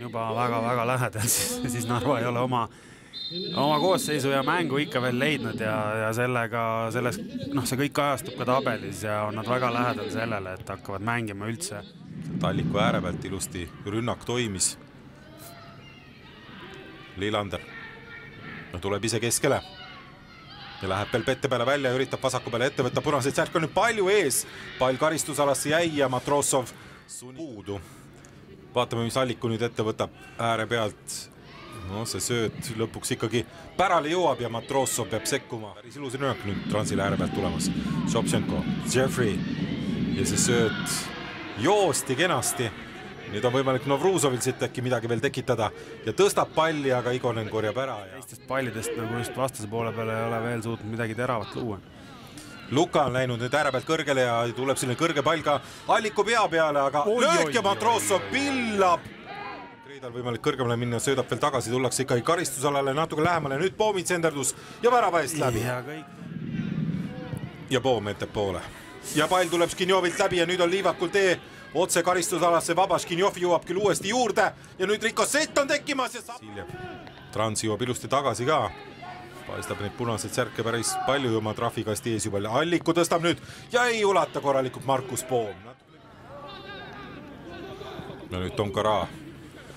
juba väga-väga lähedal, siis Narva ei ole oma koosseisu ja mängu ikka veel leidnud ja see kõik kajastub ka tabelis ja on nad väga lähedal sellele, et hakkavad mängima üldse. Alliku ääre pealt ilusti rünnak toimis. Lillander tuleb ise keskele ja läheb veel pette peale välja ja üritab vasaku peale ette võtta. Punaseid särk on nüüd palju ees. Pall karistusalasse jäi ja Matrossov puudu. Vaatame, mis Alliku nüüd ette võtab ääre pealt. No see sööt lõpuks ikkagi pärale jõuab ja Matrossov peab sekkuma. Päris ilus rünnak nüüd Transile ääre pealt tulemas. Sobtšenko, Jeffrey ja see sööt joosti kenasti. Nüüd on võimalik Novruzovil siit äkki midagi veel tekitada ja tõstab palli, aga Igonen korjab ära. Teistest pallidest nagu just vastase poole peale ei ole veel suutnud midagi teravat luua. Luka on läinud nüüd ääre pealt kõrgele ja tuleb selline kõrge pall ka Alliku pea peale, aga löök ja Matrossov pillab. Kreidal võimalik kõrgemale minna, söödab veel tagasi, tullakse ikkagi karistusalale natuke lähemale. Nüüd Poomid senderdus ja värava eest läbi. Ja Poom etab poole. Ja pall tuleb Škinjovilt läbi ja nüüd on Liivakul tee otse karistusalasse vaba. Škinjov jõuab küll uuesti juurde ja nüüd Rikosett on tekkimas ja Siljev. Trans jõuab ilusti tagasi ka. Paistab neid punaseid särke päris palju oma trafikasti ees juba. Alliku tõstab nüüd ja ei ulata korralikult Markus Poom. Ja nüüd Tonkara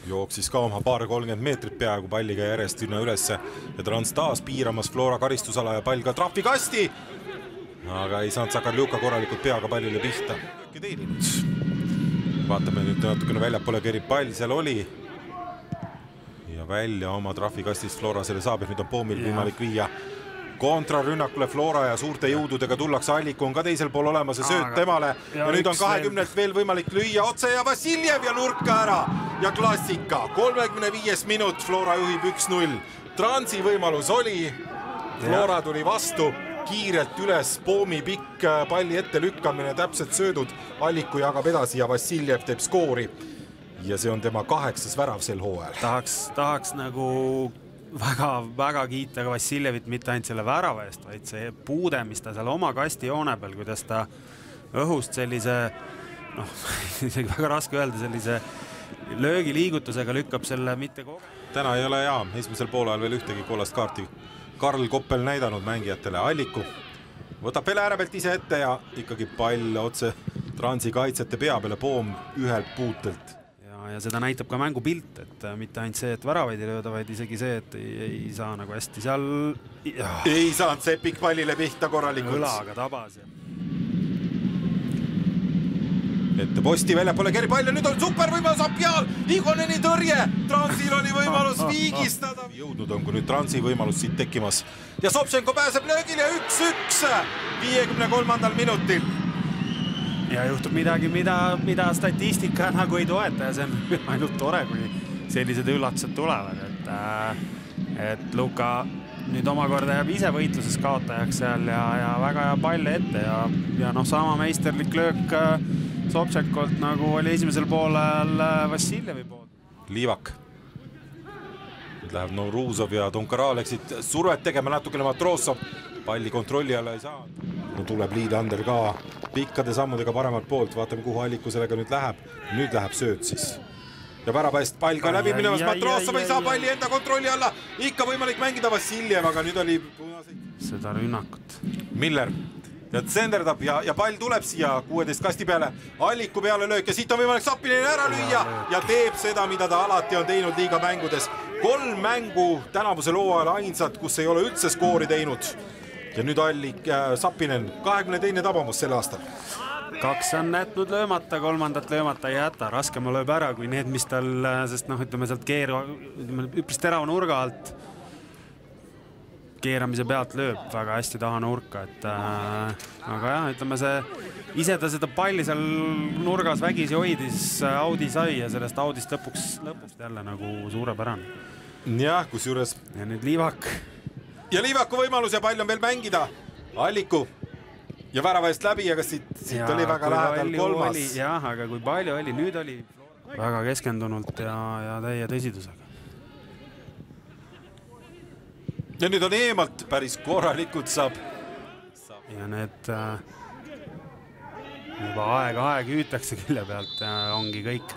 jooksis ka oma paar 30 meetrit peaaegu palliga järjest ülesse ja Trans taas piiramas Flora karistusala ja pall ka trafikasti. Aga ei saanud Sakarljuka korralikult peaga pallile pihta. Vaatame nüüd natukene väljapoole kerib pall, seal oli ja välja oma trafikastist Flora selle saab, et nüüd on Poomil võimalik viia kontrarünnakule Flora ja suurte jõududega tullakse. Alliku on ka teisel pool olemas ja sööt temale ja nüüd on 20 veel võimalik lüüa otse ja Vassiljev ja nurka ära ja klassika 35 minut, Flora juhib 1-0. Transi võimalus oli, Flora tuli vastu kiirelt üles, Poomi pikk palli ette lükkamine, täpselt söödud, Alliku jagab edasi ja Vassiljev teeb skoori ja see on tema 8. värav sel hooajal. Tahaks nagu väga kiita ka Vassiljevit mitte ainult selle värava eest, vaid see puude, mis ta seal oma kasti joone peal, kuidas ta õhust sellise, isegi väga raske öelda, sellise löögiliigutusega lükkab selle mitte kogu. Täna ei ole esimesel poolajal veel ühtegi kollast kaarti Karl Koppel näidanud mängijatele. Alliku võtab veel ääre pealt ise ette ja ikkagi pall otse Transi kaitsete pea peale, Poom ühelt puutelt. Ja seda näitab ka mängupilt, et mitte ainult see, et väravaid ei lööda, vaid isegi see, et ei saa nagu hästi seal... Ei saanud Sepik pallile pihta korralikult. Õlaga tabas. Ette posti välja pole keri pall ja nüüd on super võimalus Apjal, Igoneni tõrje, Transil oli võimalus viigistada. Jõudnud on, kui nüüd Transi võimalus siit tekkimas ja Sobtšenko pääseb löögile 1-1 53. minutil. Ja juhtub midagi, mida statistika nagu ei toeta ja see on ainult tore, kui sellised üllatused tulevad, et Luka nüüd omakorda jääb ise võitluses kaotajaks seal ja väga hea pall ette ja sama meisterlik löök Sobtšenkolt nagu oli esimesel poolel Vassiljevi pool. Liivak. Nüüd läheb Novruzov ja Tonkara läksid survet tegema natukene Matrossov. Palli kontrolli alla ei saa. No tuleb Lillander ka pikkade sammudega paremalt poolt. Vaatame, kuhu Alliku sellega nüüd läheb. Nüüd läheb sööt siis. Ja värapäist pall ka läbi minemas. Matrossov ei saa palli enda kontrolli alla. Ikka võimalik mängida Vassiljev, aga nüüd oli seda rünnakut. Miller. Ja senderdab ja pall tuleb siia 16 kasti peale, Alliku peale löök ja siit on võimalik Sapinen ära lüüa ja teeb seda, mida ta alati on teinud liiga mängudes. 3 mängu tänavusel hooajal ainsad, kus ei ole üldse skoori teinud. Ja nüüd Sapinen, 22. tabamus sel aastal. 2 on jätnud löömata, 3. löömata ei jäta. Raskema lööb ära kui need, mis tal, sest ütleme sealt üpris terava nurga alt keeramise pealt lööb väga hästi taha nurka, aga jah, ütleme ise ta seda palli seal nurgas vägisi hoidis, Audi sai ja sellest Audist lõpuks jälle nagu suurepärane. Jah, kus juures. Ja nüüd Liivak. Ja Liivaku võimalus ja pall on veel mängida. Alliku ja värava eest läbi, aga siit oli väga lähedal 3. Jah, aga kui palju oli, nüüd oli väga keskendunult ja täie tõsidusega. Ja nüüd on eemalt päris korralikult saab. Ja need juba aeg hüütakse külje pealt ja ongi kõik.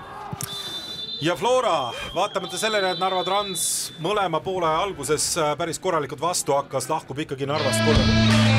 ja Flora, vaatamata sellele, et Narva Trans mõlema poole alguses päris korralikult vastu hakkas, lahkub ikkagi Narvast 3.